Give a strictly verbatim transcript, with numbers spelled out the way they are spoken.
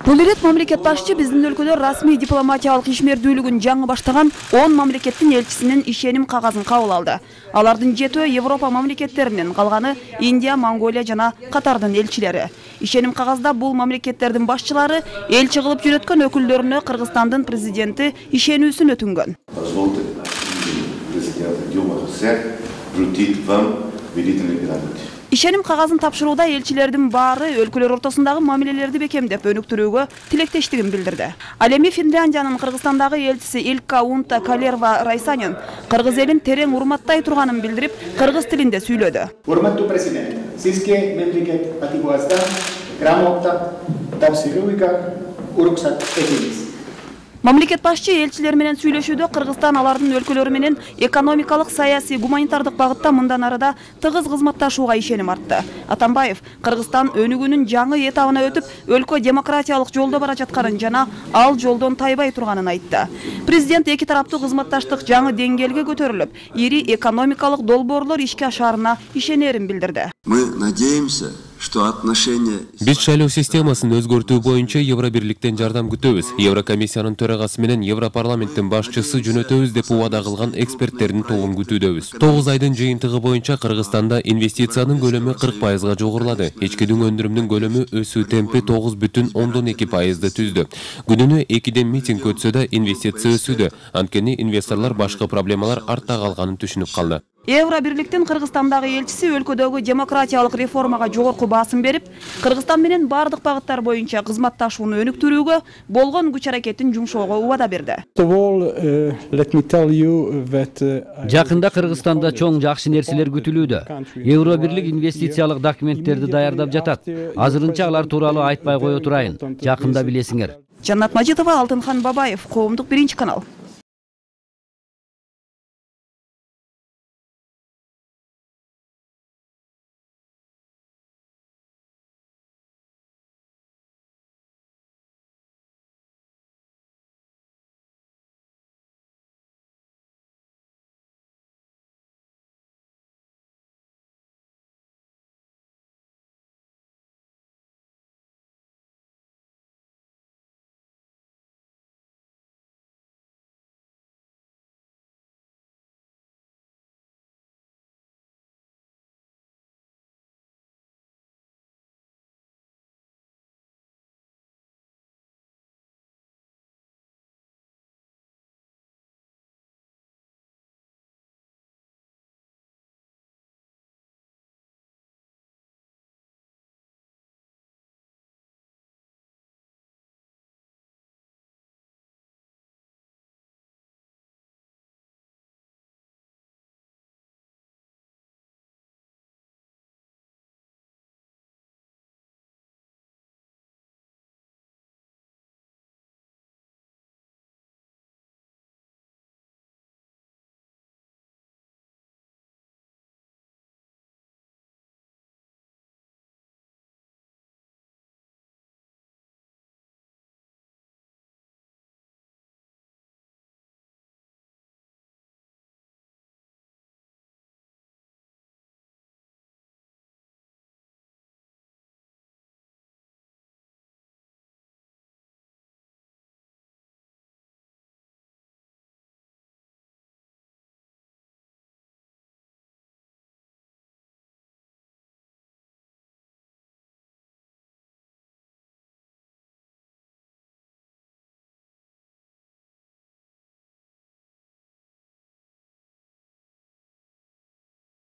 Бул ирет мамлекет башчы биздин өлкөдө расмий дипломатиялык ишмердүүлүгүн жаңы баштаган он мамлекеттин элчисинин ишеним кагазын кабыл алды. Алардын жетөө Европа мамлекеттеринен, калганы Индия, Монголия жана Катардын элчилери. Ишеним кагазда бул мамлекеттердин башчылары элчи кылып жүрөткөн өкүлдөрүнө Кыргызстандын президенти ишенүүсүн өтүнгөн. Ишеним кагазын тапшырууда элчилердин баары өлкөлөр ортосундагы мамилелерди бекемдеп өнүктүрүүгө тилектештигин билдирди. Ал эми Финляндиянын Кыргызстандагы элчиси Илкка Унта Калерва Райсанин кыргыз элин терең урматтай турганын билдирип, кыргыз тилинде сүйлөдү. Урматтуу президент, сизге мемлекет патибуазда грамота тапшырууга уруксат этебиз. Мамлекет башчы элчилер менен сүйлөшүүдө Кыргызстан алардын өлкөлөрү менен экономикалык, саясий, гуманитардык багытта мындан арыда тыгыз кызматташууга ишеним артты. Атамбаев Кыргызстан өнүгүүнүн жаңы этабына өтүп, өлкө демократиялык жолдо бара жатканын жана ал жолдон тайбай турганын айтты. Президент эки тараптуу кызматташтык жаңы деңгээлге көтөрүлүп, ири экономикалык долбоорлор ишке ашаарына ишенерин билдирди. Мы надеемся, что отношения... Биз шайлоо системасын өзгөртүү боюнча Евробирликтен жардам күтөбүз. Еврокомиссиянын төрагасы менен Европарламенттин башчысы жөнөтөбүз деп убада кылган эксперттердин тобун күтүүдөбүз. тогуз айдын жыйынтыгы боюнча Кыргызстанда инвестициянын көлөмү кырк пайызга жогорулады. Ичкидин өндүрүмүнүн көлөмү өсүү темпи тогуз бүтүн ондон эки пайызды түздү. Күнүнө экиден митинг өтсө да инвестиция өсүүдө. Анткени инвесторлор башка проблемалар артта калганын түшүнүп калды. Евробирликтин Кыргызстандагы элчиси өлкөдөгү демократиялык реформага жогорку баасым берип, Кыргызстан менен бардык багыттар боюнча кызматташууну өнүктүрүүгө болгон күч аракетин жумшоого убада берди. Жакында Кыргызстанда чоң жакшы нерселер күтүлүүдө. Евробирлик инвестициялык документтерди даярдап жатат. Азырынча алар тууралуу айтпай кое турайын. Жакында билесиңер. Жаннат Мажитова, Алтынхан Бабаев, Коомдук биринчи канал.